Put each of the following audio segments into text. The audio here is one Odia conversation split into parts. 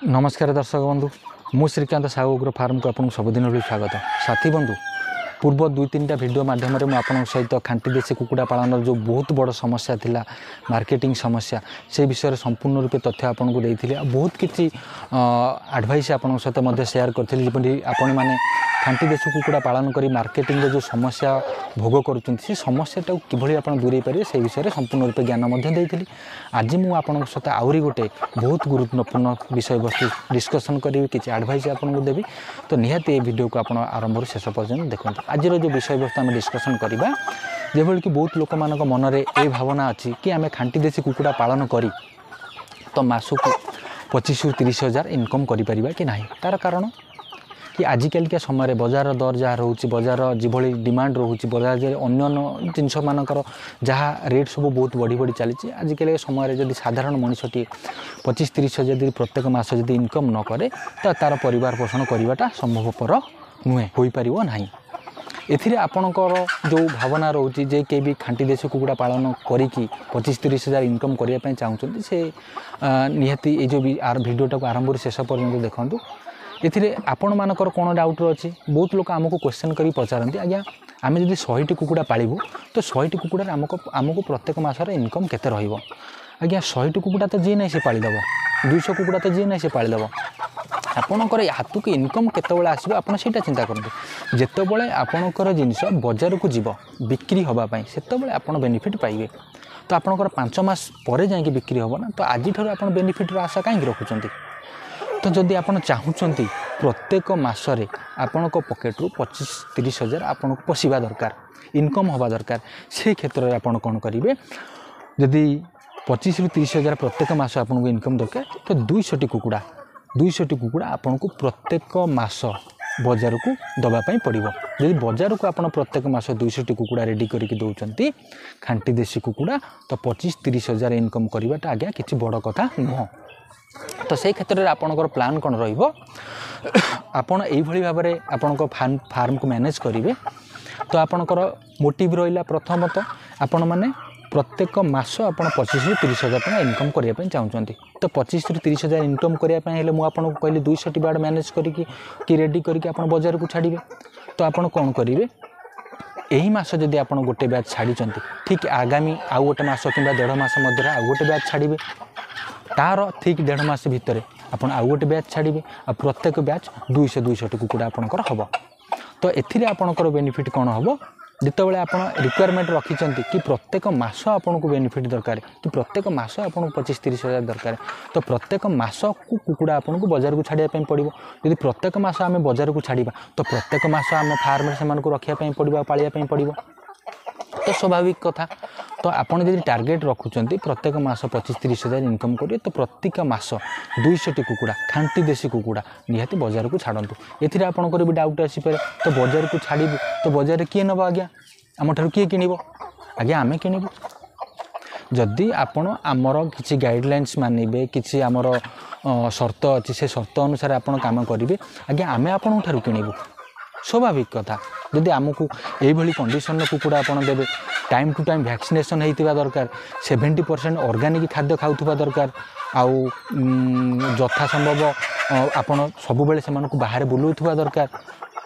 ନମସ୍କାର ଦର୍ଶକ ବନ୍ଧୁ, ମୁଁ ଶ୍ରୀକାନ୍ତ ସାହୁ, ଅଗ୍ର ଫାର୍ମକୁ ଆପଣଙ୍କୁ ସବୁଦିନ ଭଳି ସ୍ୱାଗତ। ସାଥୀ ବନ୍ଧୁ, ପୂର୍ବ ଦୁଇ ତିନିଟା ଭିଡ଼ିଓ ମାଧ୍ୟମରେ ମୁଁ ଆପଣଙ୍କ ସହିତ ଖାଣ୍ଟି ଦେଶୀ କୁକୁଡ଼ା ପାଳନର ଯେଉଁ ବହୁତ ବଡ଼ ସମସ୍ୟା ଥିଲା, ମାର୍କେଟିଂ ସମସ୍ୟା, ସେ ବିଷୟରେ ସମ୍ପୂର୍ଣ୍ଣ ରୂପେ ତଥ୍ୟ ଆପଣଙ୍କୁ ଦେଇଥିଲି ଆଉ ବହୁତ କିଛି ଆଡ଼ଭାଇସ୍ ଆପଣଙ୍କ ସହିତ ମଧ୍ୟ ସେୟାର କରିଥିଲି, ଯେପରି ଆପଣମାନେ ଖାଣ୍ଟି ଦେଶୀ କୁକୁଡ଼ା ପାଳନ କରି ମାର୍କେଟିଂର ଯେଉଁ ସମସ୍ୟା ଭୋଗ କରୁଛନ୍ତି, ସେ ସମସ୍ୟାଟାକୁ କିଭଳି ଆପଣ ଦୂରେଇ ପାରିବେ, ସେ ବିଷୟରେ ସମ୍ପୂର୍ଣ୍ଣ ରୂପେ ଜ୍ଞାନ ମଧ୍ୟ ଦେଇଥିଲି। ଆଜି ମୁଁ ଆପଣଙ୍କ ସହିତ ଆହୁରି ଗୋଟେ ବହୁତ ଗୁରୁତ୍ୱପୂର୍ଣ୍ଣ ବିଷୟବସ୍ତୁ ଡିସ୍କସନ୍ କରିବି, କିଛି ଆଡ଼ଭାଇସ୍ ଆପଣଙ୍କୁ ଦେବି। ତ ନିହାତି ଏ ଭିଡ଼ିଓକୁ ଆପଣ ଆରମ୍ଭରୁ ଶେଷ ପର୍ଯ୍ୟନ୍ତ ଦେଖନ୍ତୁ। ଆଜିର ଯେଉଁ ବିଷୟବସ୍ତୁ ଆମେ ଡିସ୍କସନ୍ କରିବା, ଯେଭଳି କି ବହୁତ ଲୋକମାନଙ୍କ ମନରେ ଏ ଭାବନା ଅଛି କି ଆମେ ଖାଣ୍ଟି ଦେଶୀ କୁକୁଡ଼ା ପାଳନ କରି ତ ମାସକୁ 25ରୁ 30 ହଜାର ଇନକମ୍ କରିପାରିବା କି ନାହିଁ। ତା'ର କାରଣ କି ଆଜିକାଲିକା ସମୟରେ ବଜାର ଦର ଯାହା ରହୁଛି, ବଜାର ଯେଭଳି ଡିମାଣ୍ଡ ରହୁଛି, ବଜାରରେ ଅନ୍ୟାନ୍ୟ ଜିନିଷମାନଙ୍କର ଯାହା ରେଟ୍ ସବୁ ବହୁତ ବଢ଼ି ବଢ଼ି ଚାଲିଛି, ଆଜିକାଲି ସମୟରେ ଯଦି ସାଧାରଣ ମଣିଷଟିଏ 25 30 ହଜାର ଯଦି ପ୍ରତ୍ୟେକ ମାସ ଯଦି ଇନକମ୍ ନ କରେ, ତ ତା'ର ପରିବାର ପୋଷଣ କରିବାଟା ସମ୍ଭବପର ନୁହେଁ, ହୋଇପାରିବ ନାହିଁ। ଏଥିରେ ଆପଣଙ୍କର ଯେଉଁ ଭାବନା ରହୁଛି ଯେ କେହି ବି ଖାଣ୍ଟି ଦେଶୀ କୁକୁଡ଼ା ପାଳନ କରିକି 25 30 ହଜାର ଇନକମ୍ କରିବା ପାଇଁ ଚାହୁଁଛନ୍ତି, ସେ ନିହାତି ଏଇ ଯେଉଁ ଭିଡ଼ିଓଟାକୁ ଆରମ୍ଭରୁ ଶେଷ ପର୍ଯ୍ୟନ୍ତ ଦେଖନ୍ତୁ। ଏଥିରେ ଆପଣମାନଙ୍କର କ'ଣ ଡାଉଟ୍ ଅଛି? ବହୁତ ଲୋକ ଆମକୁ କ୍ୱେଶ୍ଚନ୍ କରି ପଚାରନ୍ତି, ଆଜ୍ଞା ଆମେ ଯଦି 100ଟି କୁକୁଡ଼ା ପାଳିବୁ ତ 100ଟି କୁକୁଡ଼ାରେ ଆମକୁ ପ୍ରତ୍ୟେକ ମାସରେ ଇନକମ୍ କେତେ ରହିବ? ଆଜ୍ଞା, 100ଟି କୁକୁଡ଼ା ତ ଯିଏ ନାହିଁ ସେ ପାଳିଦେବ, 200 କୁକୁଡ଼ା ତ ଯିଏ ନାହିଁ ସେ ପାଳିଦେବ। ଆପଣଙ୍କର ହାତକୁ ଇନକମ୍ କେତେବେଳେ ଆସିବ, ଆପଣ ସେଇଟା ଚିନ୍ତା କରନ୍ତୁ। ଯେତେବେଳେ ଆପଣଙ୍କର ଜିନିଷ ବଜାରକୁ ଯିବ ବିକ୍ରି ହେବା ପାଇଁ, ସେତେବେଳେ ଆପଣ ବେନିଫିଟ୍ ପାଇବେ। ତ ଆପଣଙ୍କର 5 ମାସ ପରେ ଯାଇକି ବିକ୍ରି ହେବ ନା, ତ ଆଜିଠାରୁ ଆପଣ ବେନିଫିଟ୍ର ଆଶା କାହିଁକି ରଖୁଛନ୍ତି? ତ ଯଦି ଆପଣ ଚାହୁଁଛନ୍ତି ପ୍ରତ୍ୟେକ ମାସରେ ଆପଣଙ୍କ ପକେଟରୁ 25 30 ହଜାର ଆପଣଙ୍କୁ ପଶିବା ଦରକାର, ଇନକମ୍ ହେବା ଦରକାର, ସେଇ କ୍ଷେତ୍ରରେ ଆପଣ କ'ଣ କରିବେ? ଯଦି 25ରୁ 30 ହଜାର ପ୍ରତ୍ୟେକ ମାସ ଆପଣଙ୍କୁ ଇନକମ୍ ଦରକାର, ତ 200ଟି କୁକୁଡ଼ା ଆପଣଙ୍କୁ ପ୍ରତ୍ୟେକ ମାସ ବଜାରକୁ ଦେବା ପାଇଁ ପଡ଼ିବ। ଯଦି ବଜାରକୁ ଆପଣ ପ୍ରତ୍ୟେକ ମାସ 200ଟି କୁକୁଡ଼ା ରେଡ଼ି କରିକି ଦେଉଛନ୍ତି, ଖାଣ୍ଟି ଦେଶୀ କୁକୁଡ଼ା, ତ 25 30 ହଜାର ଇନକମ୍ କରିବାଟା ଆଜ୍ଞା କିଛି ବଡ଼ କଥା ନୁହଁ। ତ ସେଇ କ୍ଷେତ୍ରରେ ଆପଣଙ୍କର ପ୍ଲାନ୍ କ'ଣ ରହିବ? ଆପଣ ଏଇଭଳି ଭାବରେ ଆପଣଙ୍କ ଫାର୍ମକୁ ମ୍ୟାନେଜ୍ କରିବେ। ତ ଆପଣଙ୍କର ମୋଟିଭ୍ ରହିଲା, ପ୍ରଥମତଃ ଆପଣମାନେ ପ୍ରତ୍ୟେକ ମାସ ଆପଣ 25ରୁ 30 ହଜାର ଟଙ୍କା ଇନକମ୍ କରିବା ପାଇଁ ଚାହୁଁଛନ୍ତି। ତ 25ରୁ 30 ହଜାର ଇନକମ୍ କରିବା ପାଇଁ ହେଲେ ମୁଁ ଆପଣଙ୍କୁ କହିଲି 200ଟି ବାର୍ଡ଼ ମ୍ୟାନେଜ୍ କରିକି କି ରେଡ଼ି କରିକି ଆପଣ ବଜାରକୁ ଛାଡ଼ିବେ। ତ ଆପଣ କ'ଣ କରିବେ? ଏହି ମାସ ଯଦି ଆପଣ ଗୋଟେ ବ୍ୟାଚ୍ ଛାଡ଼ିଛନ୍ତି, ଠିକ୍ ଆଗାମୀ ଆଉ ଗୋଟେ ମାସ କିମ୍ବା ଦେଢ଼ ମାସ ମଧ୍ୟରେ ଆଉ ଗୋଟେ ବ୍ୟାଚ୍ ଛାଡ଼ିବେ। ତା'ର ଠିକ୍ ଦେଢ଼ ମାସ ଭିତରେ ଆପଣ ଆଉ ଗୋଟେ ବ୍ୟାଚ୍ ଛାଡ଼ିବେ, ଆଉ ପ୍ରତ୍ୟେକ ବ୍ୟାଚ୍ 200 200ଟି କୁକୁଡ଼ା ଆପଣଙ୍କର ହେବ। ତ ଏଥିରେ ଆପଣଙ୍କର ବେନିଫିଟ୍ କ'ଣ ହେବ? ଯେତେବେଳେ ଆପଣ ରିକ୍ୱାରମେଣ୍ଟ ରଖିଛନ୍ତି କି ପ୍ରତ୍ୟେକ ମାସ ଆପଣଙ୍କୁ ବେନିଫିଟ୍ ଦରକାର, କି ପ୍ରତ୍ୟେକ ମାସ ଆପଣଙ୍କୁ 25 30 ହଜାର ଦରକାର, ତ ପ୍ରତ୍ୟେକ ମାସକୁ କୁକୁଡ଼ା ଆପଣଙ୍କୁ ବଜାରକୁ ଛାଡ଼ିବା ପାଇଁ ପଡ଼ିବ। ଯଦି ପ୍ରତ୍ୟେକ ମାସ ଆମେ ବଜାରକୁ ଛାଡ଼ିବା, ତ ପ୍ରତ୍ୟେକ ମାସ ଆମ ଫାର୍ମରେ ସେମାନଙ୍କୁ ରଖିବା ପାଇଁ ପଡ଼ିବ ଆଉ ପାଳିବା ପାଇଁ ପଡ଼ିବ, ତ ସ୍ୱାଭାବିକ କଥା। ତ ଆପଣ ଯଦି ଟାର୍ଗେଟ୍ ରଖୁଛନ୍ତି ପ୍ରତ୍ୟେକ ମାସ 25 30 ହଜାର ଇନକମ୍ କରିବେ, ତ ପ୍ରତ୍ୟେକ ମାସ 200ଟି କୁକୁଡ଼ା, ଖାଣ୍ଟି ଦେଶୀ କୁକୁଡ଼ା ନିହାତି ବଜାରକୁ ଛାଡ଼ନ୍ତୁ। ଏଥିରେ ଆପଣଙ୍କର ବି ଡାଉଟ୍ ଆସିପାରେ, ତ ବଜାରକୁ ଛାଡ଼ିବୁ ତ ବଜାରରେ କିଏ ନେବ ଆଜ୍ଞା, ଆମଠାରୁ କିଏ କିଣିବ? ଆଜ୍ଞା, ଆମେ କିଣିବୁ। ଯଦି ଆପଣ ଆମର କିଛି ଗାଇଡ଼ଲାଇନ୍ସ ମାନିବେ, କିଛି ଆମର ସର୍ତ୍ତ ଅଛି, ସେ ସର୍ତ୍ତ ଅନୁସାରେ ଆପଣ କାମ କରିବେ, ଆଜ୍ଞା ଆମେ ଆପଣଙ୍କ ଠାରୁ କିଣିବୁ। ସ୍ୱାଭାବିକ କଥା। ଯଦି ଆମକୁ ଏଇଭଳି କଣ୍ଡିସନର କୁକୁଡ଼ା ଆପଣ ଦେବେ, ଟାଇମ୍ ଟୁ ଟାଇମ୍ ଭ୍ୟାକ୍ସିନେସନ୍ ହେଇଥିବା ଦରକାର, 70% ଅର୍ଗାନିକ୍ ଖାଦ୍ୟ ଖାଉଥିବା ଦରକାର, ଆଉ ଯଥା ସମ୍ଭବ ଆପଣ ସବୁବେଳେ ସେମାନଙ୍କୁ ବାହାରେ ବୁଲଉଥିବା ଦରକାର,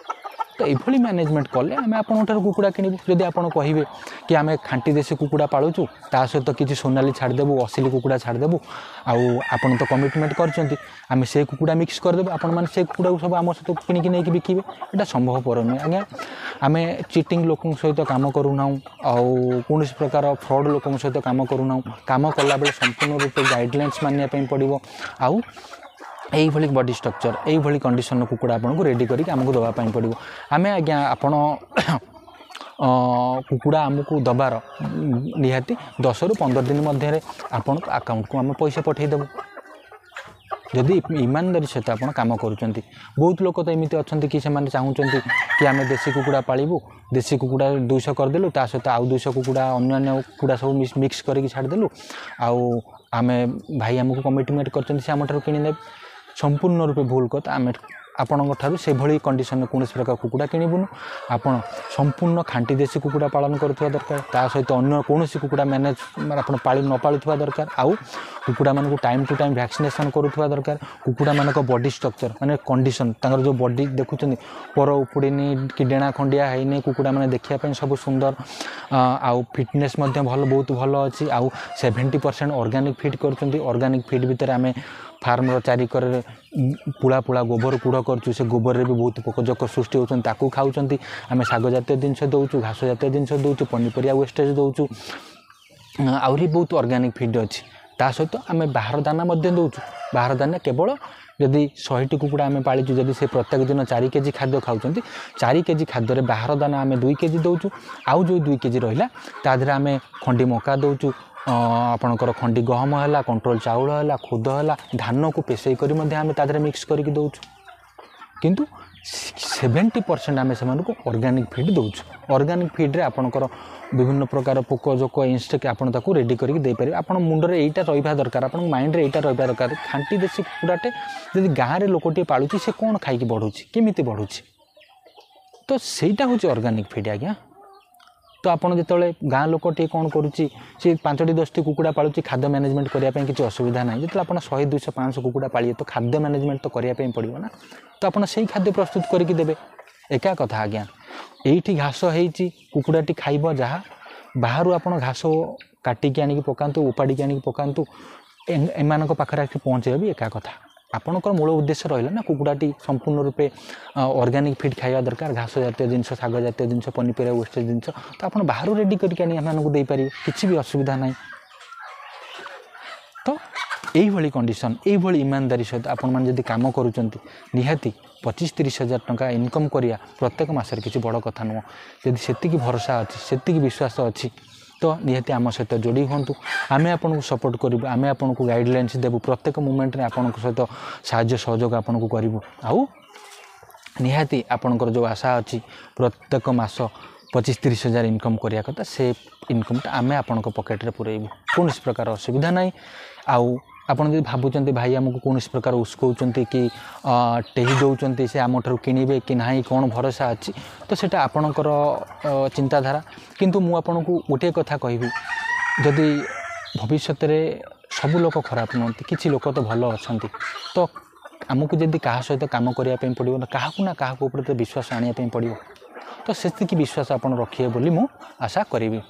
ତ ଏଇଭଳି ମ୍ୟାନେଜମେଣ୍ଟ କଲେ ଆମେ ଆପଣଙ୍କ ଠାରୁ କୁକୁଡ଼ା କିଣିବୁ। ଯଦି ଆପଣ କହିବେ କି ଆମେ ଖାଣ୍ଟି ଦେଶୀ କୁକୁଡ଼ା ପାଳୁଛୁ, ତା ସହିତ କିଛି ସୋନାଲି ଛାଡ଼ିଦେବୁ, ଅସିଲି କୁକୁଡ଼ା ଛାଡ଼ିଦେବୁ, ଆଉ ଆପଣ ତ କମିଟମେଣ୍ଟ କରିଛନ୍ତି, ଆମେ ସେ କୁକୁଡ଼ା ମିକ୍ସ କରିଦେବୁ, ଆପଣମାନେ ସେ କୁକୁଡ଼ାକୁ ସବୁ ଆମ ସହିତ କିଣିକି ନେଇକି ବିକିବେ, ଏଇଟା ସମ୍ଭବପର ନୁହେଁ ଆଜ୍ଞା। ଆମେ ଚିଟିଂ ଲୋକଙ୍କ ସହିତ କାମ କରୁନାହୁଁ ଆଉ କୌଣସି ପ୍ରକାର ଫ୍ରଡ଼୍ ଲୋକଙ୍କ ସହିତ କାମ କରୁନାହୁଁ। କାମ କଲାବେଳେ ସମ୍ପୂର୍ଣ୍ଣ ରୂପେ ଗାଇଡ଼ଲାଇନ୍ସ ମାନିବା ପାଇଁ ପଡ଼ିବ, ଆଉ ଏଇଭଳି ବଡି ଷ୍ଟ୍ରକ୍ଚର୍, ଏଇଭଳି କଣ୍ଡିସନ୍ର କୁକୁଡ଼ା ଆପଣଙ୍କୁ ରେଡ଼ି କରିକି ଆମକୁ ଦେବା ପାଇଁ ପଡ଼ିବ। ଆମେ ଆଜ୍ଞା ଆପଣ କୁକୁଡ଼ା ଆମକୁ ଦେବାର ନିହାତି 10ରୁ 15 ଦିନ ମଧ୍ୟରେ ଆପଣଙ୍କ ଆକାଉଣ୍ଟକୁ ଆମେ ପଇସା ପଠାଇଦେବୁ, ଯଦି ଇମାନଦାରୀ ସହିତ ଆପଣ କାମ କରୁଛନ୍ତି। ବହୁତ ଲୋକ ତ ଏମିତି ଅଛନ୍ତି କି ସେମାନେ ଚାହୁଁଛନ୍ତି କି ଆମେ ଦେଶୀ କୁକୁଡ଼ା ପାଳିବୁ, ଦେଶୀ କୁକୁଡ଼ା 200 କରିଦେଲୁ, ତା ସହିତ ଆଉ 200 କୁକୁଡ଼ା ଅନ୍ୟାନ୍ୟ କୁକୁଡ଼ା ସବୁ ମିକ୍ସ କରିକି ଛାଡ଼ିଦେଲୁ, ଆଉ ଆମେ ଭାଇ ଆମକୁ କମିଟମେଣ୍ଟ କରିଛନ୍ତି, ସେ ଆମଠାରୁ କିଣି ନେବେ। ସମ୍ପୂର୍ଣ୍ଣ ରୂପେ ଭୁଲ କଥା। ଆମେ ଆପଣଙ୍କ ଠାରୁ ସେଭଳି କଣ୍ଡିସନରେ କୌଣସି ପ୍ରକାର କୁକୁଡ଼ା କିଣିବୁନୁ। ଆପଣ ସମ୍ପୂର୍ଣ୍ଣ ଖାଣ୍ଟି ଦେଶୀ କୁକୁଡ଼ା ପାଳନ କରୁଥିବା ଦରକାର, ତା ସହିତ ଅନ୍ୟ କୌଣସି କୁକୁଡ଼ା ମ୍ୟାନେଜ୍ ମାନେ ଆପଣ ପାଳି ନ ପାଳୁଥିବା ଦରକାର, ଆଉ କୁକୁଡ଼ାମାନଙ୍କୁ ଟାଇମ୍ ଟୁ ଟାଇମ୍ ଭ୍ୟାକ୍ସିନେସନ୍ କରୁଥିବା ଦରକାର। କୁକୁଡ଼ାମାନଙ୍କ ବଡି ଷ୍ଟ୍ରକ୍ଚର୍ ମାନେ କଣ୍ଡିସନ୍, ତାଙ୍କର ଯେଉଁ ବଡି ଦେଖୁଛନ୍ତି ପର ଉପୁଡ଼ିନି କି ଡେଣା ଖଣ୍ଡିଆ ହେଇନି, କୁକୁଡ଼ାମାନେ ଦେଖିବା ପାଇଁ ସବୁ ସୁନ୍ଦର, ଆଉ ଫିଟନେସ୍ ମଧ୍ୟ ଭଲ, ବହୁତ ଭଲ ଅଛି। ଆଉ 70% ଅର୍ଗାନିକ୍ ଫିଡ୍ କରୁଛନ୍ତି। ଅର୍ଗାନିକ୍ ଫିଡ୍ ଭିତରେ ଆମେ ଫାର୍ମର ଚାରିକରରେ ପୁଳା ପୁଳା ଗୋବର କୁଢ଼ କରୁଛୁ, ସେ ଗୋବରରେ ବି ବହୁତ ପୋକଜୋକ ସୃଷ୍ଟି ହେଉଛନ୍ତି, ତାକୁ ଖାଉଛନ୍ତି। ଆମେ ଶାଗ ଜାତୀୟ ଜିନିଷ ଦେଉଛୁ, ଘାସ ଜାତୀୟ ଜିନିଷ ଦେଉଛୁ, ପନିପରିବା ୱେଷ୍ଟେଜ୍ ଦେଉଛୁ, ଆହୁରି ବହୁତ ଅର୍ଗାନିକ୍ ଫିଡ୍ ଅଛି। ତା ସହିତ ଆମେ ବାହାର ଦାନା ମଧ୍ୟ ଦେଉଛୁ। ବାହାର ଦାନା କେବଳ ଯଦି 100ଟି କୁକୁଡ଼ା ଆମେ ପାଳିଛୁ, ଯଦି ସେ ପ୍ରତ୍ୟେକ ଦିନ 4 କେଜି ଖାଦ୍ୟ ଖାଉଛନ୍ତି, 4 କେଜି ଖାଦ୍ୟରେ ବାହାର ଦାନା ଆମେ 2 କେଜି ଦେଉଛୁ, ଆଉ ଯେଉଁ 2 କେଜି ରହିଲା ତା ଦେହରେ ଆମେ ଖଣ୍ଡି ମକା ଦେଉଛୁ, ଆପଣଙ୍କର ଖଣ୍ଡି ଗହମ ହେଲା, କଣ୍ଟ୍ରୋଲ ଚାଉଳ ହେଲା, ଖୁଦ ହେଲା, ଧାନକୁ ପେଷେଇ କରି ମଧ୍ୟ ଆମେ ତା ଦେହରେ ମିକ୍ସ କରିକି ଦେଉଛୁ। କିନ୍ତୁ 70% ଆମେ ସେମାନଙ୍କୁ ଅର୍ଗାନିକ୍ ଫିଡ୍ ଦେଉଛୁ। ଅର୍ଗାନିକ୍ ଫିଡ୍ରେ ଆପଣଙ୍କର ବିଭିନ୍ନ ପ୍ରକାର ପୋକ ଜୋକ ଇନସେକ୍ଟ ଆପଣ ତାକୁ ରେଡ଼ି କରିକି ଦେଇପାରିବେ। ଆପଣ ମୁଣ୍ଡରେ ଏଇଟା ରହିବା ଦରକାର, ଆପଣଙ୍କ ମାଇଣ୍ଡରେ ଏଇଟା ରହିବା ଦରକାର, ଖାଣ୍ଟି ଦେଶୀ କୁକୁଡ଼ାଟେ ଯଦି ଗାଁରେ ଲୋକଟିଏ ପାଳୁଛି ସେ କ'ଣ ଖାଇକି ବଢ଼ୁଛି, କେମିତି ବଢ଼ୁଛି, ତ ସେଇଟା ହେଉଛି ଅର୍ଗାନିକ୍ ଫିଡ୍ ଆଜ୍ଞା। ତ ଆପଣ ଯେତେବେଳେ ଗାଁ ଲୋକଟିଏ କ'ଣ କରୁଛି, ସେ 5ଟି 10ଟି କୁକୁଡ଼ା ପାଳୁଛି, ଖାଦ୍ୟ ମ୍ୟାନେଜମେଣ୍ଟ କରିବା ପାଇଁ କିଛି ଅସୁବିଧା ନାହିଁ। ଯେତେବେଳେ ଆପଣ 100 200 500 କୁକୁଡ଼ା ପାଳିବେ ତ ଖାଦ୍ୟ ମ୍ୟାନେଜମେଣ୍ଟ ତ କରିବା ପାଇଁ ପଡ଼ିବ ନା, ତ ଆପଣ ସେଇ ଖାଦ୍ୟ ପ୍ରସ୍ତୁତ କରିକି ଦେବେ। ଏକା କଥା ଆଜ୍ଞା, ଏଇଠି ଘାସ ହେଇଛି କୁକୁଡ଼ାଟି ଖାଇବ ଯାହା, ବାହାରୁ ଆପଣ ଘାସ କାଟିକି ଆଣିକି ପକାନ୍ତୁ, ଉପାଡ଼ିକି ଆଣିକି ପକାନ୍ତୁ, ଏମାନଙ୍କ ପାଖରେ ଆସିକି ପହଞ୍ଚାଇବା ବି ଏକା କଥା। ଆପଣଙ୍କର ମୂଳ ଉଦ୍ଦେଶ୍ୟ ରହିଲା ନା କୁକୁଡ଼ାଟି ସମ୍ପୂର୍ଣ୍ଣ ରୂପେ ଅର୍ଗାନିକ୍ ଫିଡ୍ ଖାଇବା ଦରକାର, ଘାସ ଜାତୀୟ ଜିନିଷ, ଶାଗ ଜାତୀୟ ଜିନିଷ, ପନିପରିବା ୱେଷ୍ଟେଜ୍ ଜିନିଷ, ତ ଆପଣ ବାହାରୁ ରେଡ଼ି କରିକି ଆଣି ଏମାନଙ୍କୁ ଦେଇପାରିବେ, କିଛି ବି ଅସୁବିଧା ନାହିଁ। ତ ଏଇଭଳି କଣ୍ଡିସନ୍, ଏଇଭଳି ଇମାନଦାରୀ ସହିତ ଆପଣମାନେ ଯଦି କାମ କରୁଛନ୍ତି, ନିହାତି 25-30 ହଜାର ଟଙ୍କା ଇନକମ୍ କରିବା ପ୍ରତ୍ୟେକ ମାସରେ କିଛି ବଡ଼ କଥା ନୁହଁ। ଯଦି ସେତିକି ଭରସା ଅଛି, ସେତିକି ବିଶ୍ୱାସ ଅଛି, ତ ନିହାତି ଆମ ସହିତ ଯୋଡ଼ି ହୁଅନ୍ତୁ। ଆମେ ଆପଣଙ୍କୁ ସପୋର୍ଟ କରିବୁ, ଆମେ ଆପଣଙ୍କୁ ଗାଇଡ଼ଲାଇନ୍ସ ଦେବୁ, ପ୍ରତ୍ୟେକ ମୁମେଣ୍ଟରେ ଆପଣଙ୍କ ସହିତ ସାହାଯ୍ୟ ସହଯୋଗ ଆପଣଙ୍କୁ କରିବୁ। ଆଉ ନିହାତି ଆପଣଙ୍କର ଯେଉଁ ଆଶା ଅଛି ପ୍ରତ୍ୟେକ ମାସ 25-30 ହଜାର ଇନକମ୍ କରିବା କଥା, ସେ ଇନକମ୍ଟା ଆମେ ଆପଣଙ୍କ ପକେଟରେ ପୁରେଇବୁ, କୌଣସି ପ୍ରକାର ଅସୁବିଧା ନାହିଁ। ଆଉ ଆପଣ ଯଦି ଭାବୁଛନ୍ତି ଭାଇ ଆମକୁ କୌଣସି ପ୍ରକାର ଉସ୍କଉଛନ୍ତି କି ଟେହି ଦେଉଛନ୍ତି, ସେ ଆମଠାରୁ କିଣିବେ କି ନାହିଁ, କ'ଣ ଭରସା ଅଛି, ତ ସେଇଟା ଆପଣଙ୍କର ଚିନ୍ତାଧାରା। କିନ୍ତୁ ମୁଁ ଆପଣଙ୍କୁ ଗୋଟିଏ କଥା କହିବି, ଯଦି ଭବିଷ୍ୟତରେ ସବୁ ଲୋକ ଖରାପ ନୁହନ୍ତି, କିଛି ଲୋକ ତ ଭଲ ଅଛନ୍ତି, ତ ଆମକୁ ଯଦି କାହା ସହିତ କାମ କରିବା ପାଇଁ ପଡ଼ିବ ନା କାହାକୁ ନା କାହାକୁ ଉପରେ ତ ବିଶ୍ୱାସ ଆଣିବା ପାଇଁ ପଡ଼ିବ, ତ ସେତିକି ବିଶ୍ୱାସ ଆପଣ ରଖିବେ ବୋଲି ମୁଁ ଆଶା କରିବି।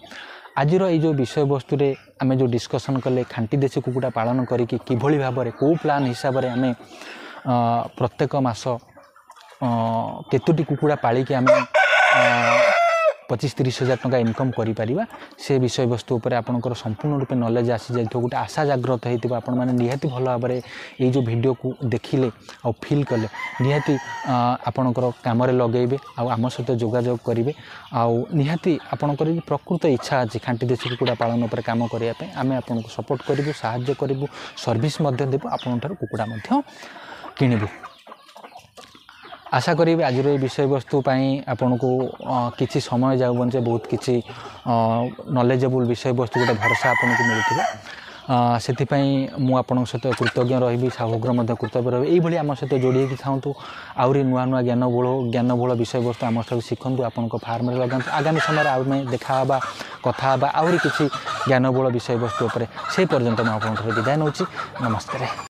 ଆଜିର ଏଇ ଯେଉଁ ବିଷୟବସ୍ତୁରେ ଆମେ ଯେଉଁ ଡିସ୍କସନ୍ କଲେ, ଖାଣ୍ଟି ଦେଶୀ କୁକୁଡ଼ା ପାଳନ କରିକି କିଭଳି ଭାବରେ କେଉଁ ପ୍ଲାନ୍ ହିସାବରେ ଆମେ ପ୍ରତ୍ୟେକ ମାସ କେତୋଟି କୁକୁଡ଼ା ପାଳିକି ଆମେ 25-30 ହଜାର ଟଙ୍କା ଇନକମ୍ କରିପାରିବା, ସେ ବିଷୟବସ୍ତୁ ଉପରେ ଆପଣଙ୍କର ସମ୍ପୂର୍ଣ୍ଣ ରୂପେ ନଲେଜ୍ ଆସିଯାଇଥିବ, ଗୋଟେ ଆଶା ଜାଗ୍ରତ ହେଇଥିବ। ଆପଣମାନେ ନିହାତି ଭଲ ଭାବରେ ଏଇ ଯେଉଁ ଭିଡ଼ିଓକୁ ଦେଖିଲେ ଆଉ ଫିଲ୍ କଲେ, ନିହାତି ଆପଣଙ୍କର କାମରେ ଲଗେଇବେ ଆଉ ଆମ ସହିତ ଯୋଗାଯୋଗ କରିବେ। ଆଉ ନିହାତି ଆପଣଙ୍କର ଯଦି ପ୍ରକୃତ ଇଚ୍ଛା ଅଛି ଖାଣ୍ଟି ଦେଶୀ କୁକୁଡ଼ା ପାଳନ ଉପରେ କାମ କରିବା ପାଇଁ, ଆମେ ଆପଣଙ୍କୁ ସପୋର୍ଟ କରିବୁ, ସାହାଯ୍ୟ କରିବୁ, ସର୍ଭିସ୍ ମଧ୍ୟ ଦେବୁ, ଆପଣଙ୍କ ଠାରୁ କୁକୁଡ଼ା ମଧ୍ୟ କିଣିବୁ। ଆଶା କରିବି ଆଜିର ଏଇ ବିଷୟବସ୍ତୁ ପାଇଁ ଆପଣଙ୍କୁ କିଛି ସମୟ ଯାଉ ବଞ୍ଚେ ବହୁତ କିଛି ନଲେଜେବୁଲ୍ ବିଷୟବସ୍ତୁ, ଗୋଟେ ଭରସା ଆପଣଙ୍କୁ ମିଳିଥିବ। ସେଥିପାଇଁ ମୁଁ ଆପଣଙ୍କ ସହିତ କୃତଜ୍ଞ ରହିବି, ସାହୁଗ୍ର ମଧ୍ୟ କୃତଜ୍ଞ ରହିବି। ଏଇଭଳି ଆମ ସହିତ ଯୋଡ଼ି ହେଇକି ଥାଆନ୍ତୁ, ଆହୁରି ନୂଆ ନୂଆ ଜ୍ଞାନବହୁଳ ବିଷୟବସ୍ତୁ ଆମ ଠାରୁ ଶିଖନ୍ତୁ, ଆପଣଙ୍କ ଫାର୍ମରେ ଲଗାନ୍ତୁ। ଆଗାମୀ ସମୟରେ ଆମେ ଦେଖା ହେବା, କଥା ହେବା ଆହୁରି କିଛି ଜ୍ଞାନବହୁଳ ବିଷୟବସ୍ତୁ ଉପରେ। ସେ ପର୍ଯ୍ୟନ୍ତ ମୁଁ ଆପଣଙ୍କ ଠାରୁ ବିଦାୟ ନେଉଛି। ନମସ୍କାର।